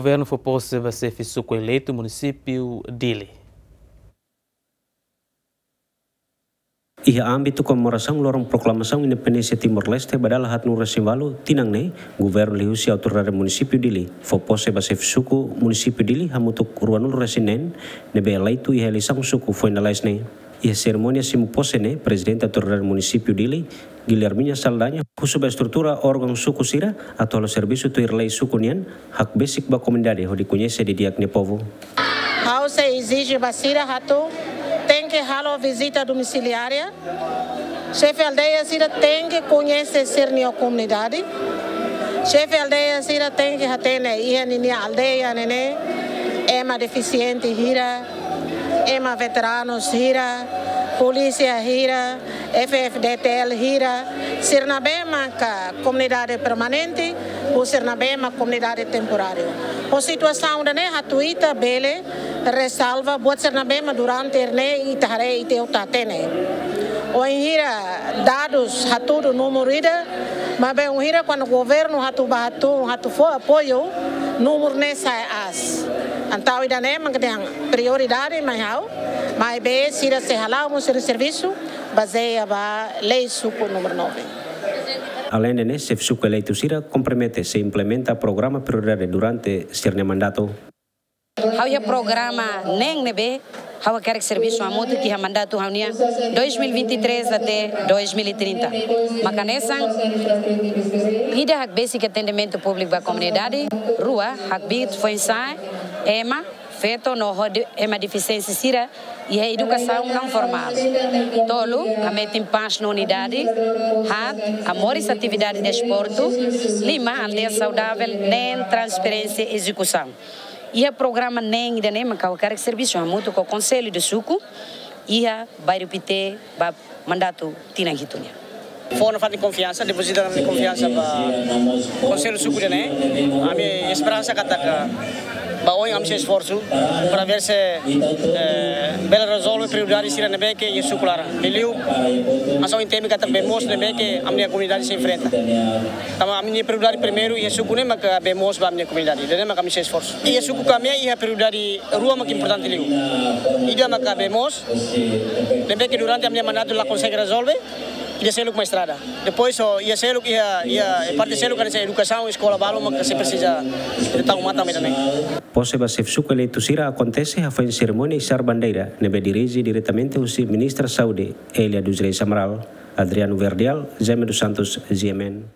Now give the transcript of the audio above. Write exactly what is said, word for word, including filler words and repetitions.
Governu fó pose ba xefe suku eleitu munisípiu Dili. Iha ámbitu komemorasaun loron proklamasaun independénsia Timor-Leste ba dala haatnulu resin ualu tinan ne'e, governu liuhusi autoridade munisípiu Dili fó pose ba xefe suku munisípiu Dili hamutuk ruanulu resin neen ne'ebé eleitu iha eleisaun suku foin lalais ne'e. Iha serimónia simu pose ne'e, prezidente autoridade munisípiu Dili, Guilhermina Saldanha, husu ba estrutura órgaun suku sira atu halo servisu tuir lei suku nian, hakbesik ba komunidade hodi koñese didi'ak nia povu. Ha'u sei ezije ba sira atu tenke halo vizita domisiliária. Xefe aldeia sira tenke koñese sira-nia komunidade. Xefe aldeia sira tenke hatene iha ninia aldeia ne'e ema defisiente hira, ema veteranus hira, polísia hira, F F D T L hira, sira ne'ebé maka komunidade permanente, ou sira ne'ebé maka komunidade temporáriu. Ho situasaun ida-ne'e atu ita bele rezolve buat sira ne'ebé mak durante ne'e ita haree ita hotu hatene. Wainhira dadus hatudu númeru ida, maibé wainhira kuandu governu atu ba atu, atu fó apoiu, númeru ne'e sai aas. Entaun ida-ne'e mak dehan prioridade mai ha'u, maibé sira sei hala'o mós sira servisu bazeia ba lei suku númeru nove. Aleinde ne'e, xefe suku eleitu sira kompromete sei implementa programa prioridade durante sira-nia mandatu. Ha'u iha programa neen ne'ebé ha'u hakarak servisu hamutuk iha mandatu ha'u-nian dois mil e vinte e três até dois mil e trinta. Mak hanesan: ida, hakbesik atendimentu públiku ba komunidade; rua, hakbiit foin-sa'e, ema feto no ho de-, ema defisiente sira iha edukasaun naun formál; tolu, hametin pás no unidade; haat, hamoris atividade desportu; lima, aldeia saudável neen transparénsia ezekusaun. Iha programa neen ida-ne'e mak ha'u hakarak servisu hamutuk ho Konsellu de Suku iha bairru Pité ba mandatu tinan hitu nian. Fó nafatin konfiansa, depozita nafatin konfiansa ba Konsellu Suku ida-ne'e. Ami esperansa katak ba oin ami sei esforsu para ver se, eh, bele rezolve prioridade sira ne'ebé ke iha suku laran. Liuliu, ami sei entende katak bee moos ne'ebé ke ami-nia komunidade sei enfrenta. Tanba ami-nia prioridade primeiru iha suku ne'e maka bee moos ba ami-nia komunidade. Ida-ne'e maka ami sei esforsu. Iha suku kami iha prioridade rua mak importante liu. Ida maka bee moos, ne'ebé ke durante ami-nia mandatu la konsege rezolve, ida seluk mak estrada. Depois, so, iha seluk, iha, iha parte seluk hanesan edukasaun, eskola balu mak sei presiza ita tau matan mai ida-ne'e. Pose ba xefe suku eleitu sira akontese hafoin serimónia isar bandeira ne'ebé dirije diretamente husi Ministra Saúde, Elia dos Reis Amaral. Adriano Verdial, Jaime dos Santos, G M N.